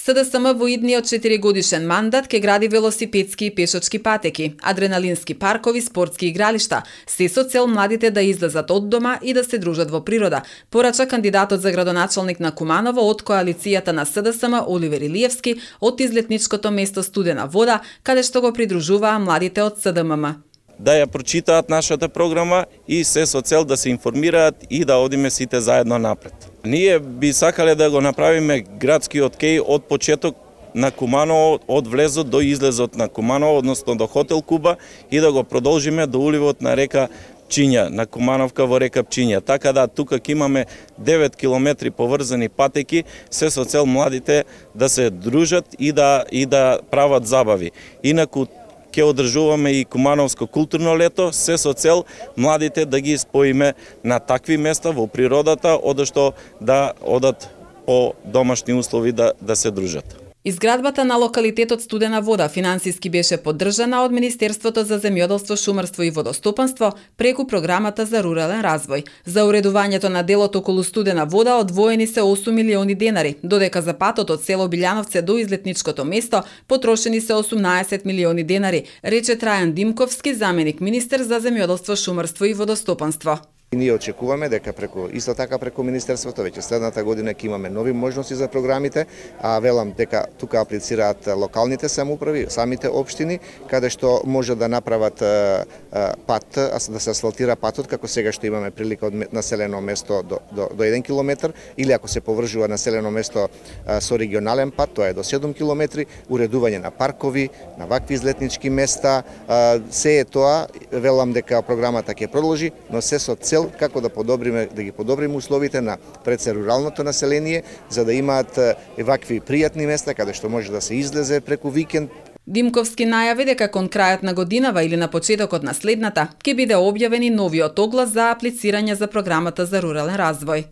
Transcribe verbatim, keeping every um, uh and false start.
СДСМ во идниот четиригодишен мандат ке гради велосипедски и пешачки патеки, адреналински паркови, спортски игралишта, се со цел младите да излезат од дома и да се дружат во природа, порача кандидатот за градоначалник на Куманово од коалицијата на СДСМ Оливер Илиевски од излетничкото место Студена вода, каде што го придружуваа младите од СДММ. Да ја прочитаат нашата програма и се со цел да се информираат и да одиме сите заедно напред. Ние би сакале да го направиме градскиот кеј од почеток на Куманово, од влезот до излезот на Куманово, односно до хотел Куба, и да го продолжиме до уливот на река Пчиња, на Кумановка во река Пчиња. Така да тука ќе имаме девет километри поврзани патеки, се со цел младите да се дружат и да и да прават забави. Инаку ќе одржуваме и Кумановско културно лето, се со цел младите да ги споиме на такви места во природата, одошто да одат по домашни услови да, да се дружат. Изградбата на локалитетот Студена вода финансиски беше поддржана од Министерството за земјоделство, шумарство и водостопанство преку програмата за рурален развој. За уредувањето на делот околу Студена вода одвоени се осум милиони денари, додека за патот од село Билјановце до излетничкото место потрошени се осумнаесет милиони денари, рече Трајан Димковски, заменик министер за земјоделство, шумарство и водостопанство. И ние очекуваме дека преку исто така преку министерството веќе следната година ќе имаме нови можности за програмите, а велам дека тука аплицираат локалните самоуправи, самите општини, каде што може да направат пат, да се асфалтира патот, како сега што имаме прилика од населено место до, до, до еден километар, или ако се повржува населено место со регионален пат, тоа е до седум километри, уредување на паркови, на вакви излетнички места, се е тоа, велам дека програмата ќе продолжи, но се со цел како да подобриме, да ги подобриме условите на пред се руралното население, за да имаат вакви пријатни места каде што може да се излезе преку викенд. Димковски најави дека кон крајот на годинава или на почетокот на следната ќе биде објавени новиот оглас за аплицирање за програмата за рурален развој.